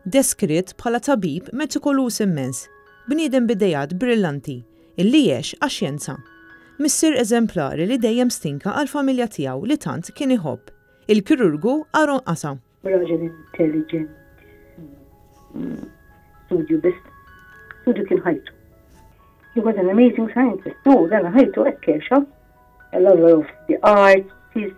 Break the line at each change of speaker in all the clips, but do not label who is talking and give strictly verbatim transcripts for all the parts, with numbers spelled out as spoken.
Deskritt bħala tabib metikoluż immens, bniedem b'ideat brillanti, illi għex għax-xjenza. Missier eżemplari li dejjem stinka għall-familja tiegħu li tant kien iħobb. Il-kirurgu Aaron Qasa.
Raġel intelligent. Studju biss. Studju kien ħajtu. He was an amazing scientist. No, dan ħajtu hekk għexha. A lover of the arts. He's...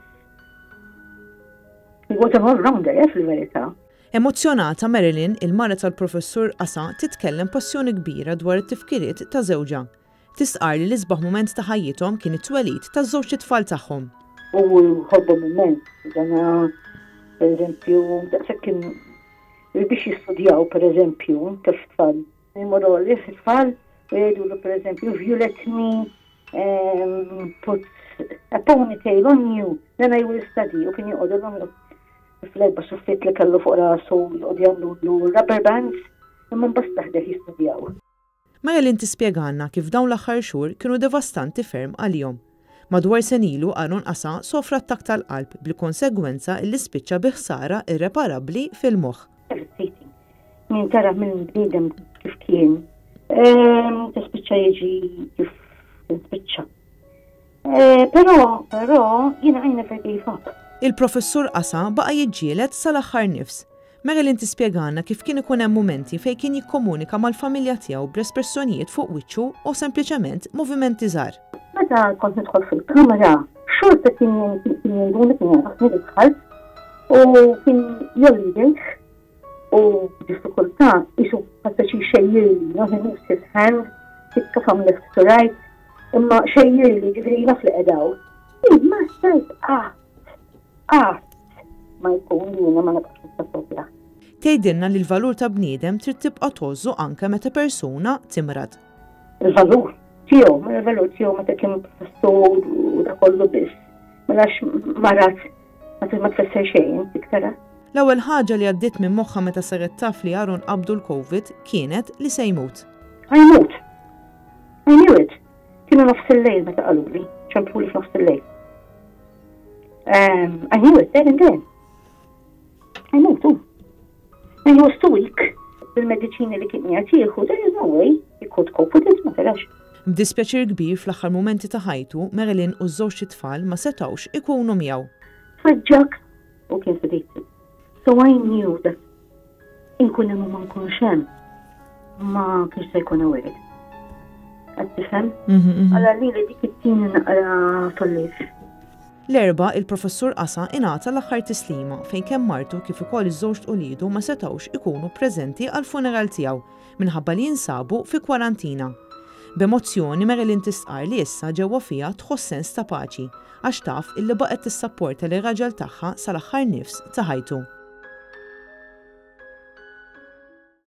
He was an all-rounder, eh, fil-verità.
Emozzjonata Marilyn, il-mara tal-professur Qasa, titkellem passjoni kbira dwar it-tifkiriet ta' żewġha. Tistqar li l-isbaħ mument ta' ħajjithom kien it-twelid ta' żewġ itfal tagħhom.
U ħobbhom immens. Dana, per eżempju, daqshekk kien biex jistudjaw, per eżempju, taf tfal. Jmorru għalih tfal u jgħidulu, per eżempju, "If you let me um, put a ponytail on you, then I will study." U kien joqogħdu fl-erba' suffit li kellu fuq rasu joqgħod jagħmlu rubber bands, imma mbagħad taħdem jistudjaw.
Marilyn tispjegalna kif dawn l-aħħar xhur kienu devastanti ferm għalihom. Madwar sena ilu Aaron Qasa sofra attakk tal-qalb bil-konsegwenza illi spiċċa bi ħsara irreparabbli fil-moħħ.
Devastating. Min tara minn bniedem kif kien, tispiċċa jiġi kif spiċċa. Eh, però, però, jiena I never gave up.
Il-professur Qasa baqa' jiġġieled sal-aħħar nifs. Marilyn tispjegana kif kien ikun hemm mumenti fejn kien jikkomunika mal-familja tiegħu b'espressjonijiet fuq wiċċu u sempliċement movimenti żgħar.
Meta kont nidħol fil-kamera, xorta kien kien jinduna, kien jarafni li dħalt u kien jgħolli idejh u b'diffikultà qisu passaċi xejjirli, no, he moves his hand, tikka from left to right, imma xejjirli, ġifieri naf li qedaw. Ma stajt qatt, qatt ma jkun li jiena ma nibqax nissapportjah.
Tgħidilna li l-valur ta' bniedem trid tibqa' tgħożżu anke meta persuna timrad.
Il-valur tiegħu, ma il-valur tiegħu meta kien professur u da kollu biss. Mela marad ma ma tfisser xejn, tara.
L-ewwel ħaġa li għaddiet minn moħħha meta saret taf li Aaron qabdu l-Covid kienet li se jmut.
Ħa jmut. I knew it. Kienu nofs il-lejl meta qaluli, ċempluli f'nofs il-lejl. Um, I knew it there and then. Ħa jmut, u. And he was too weak. Bil-mediċini li kien jagħtieħu, there is no way he could cope with it, ma tarax.
B'dispjaċir kbir, fl-aħħar mumenti ta' ħajtu, Marilyn u ż-żewġ tfal ma setgħux ikunu miegħu.
Feġġak u kien sedated. So I knew that inkun hemm u ma nkunx hemm ma kienx se jkun aware. Qed tifhem? Għalla li li dik it-tieni naqra tollif.
L-Erbgħa il-professur Qasa ingħata l-aħħar tislima fejn kemm martu kif ukoll iż-żewġ uliedu ma setgħux ikunu preżenti għal-funeral tiegħu minħabba li jinsabu fi kwarantina. B'emozzjoni Marilyn tistqar li issa ġewwa fiha tħoss sens ta' paċi għax taf illi baqgħet tissapporta lir-raġel tagħha sal-aħħar nifs ta' ħajtu.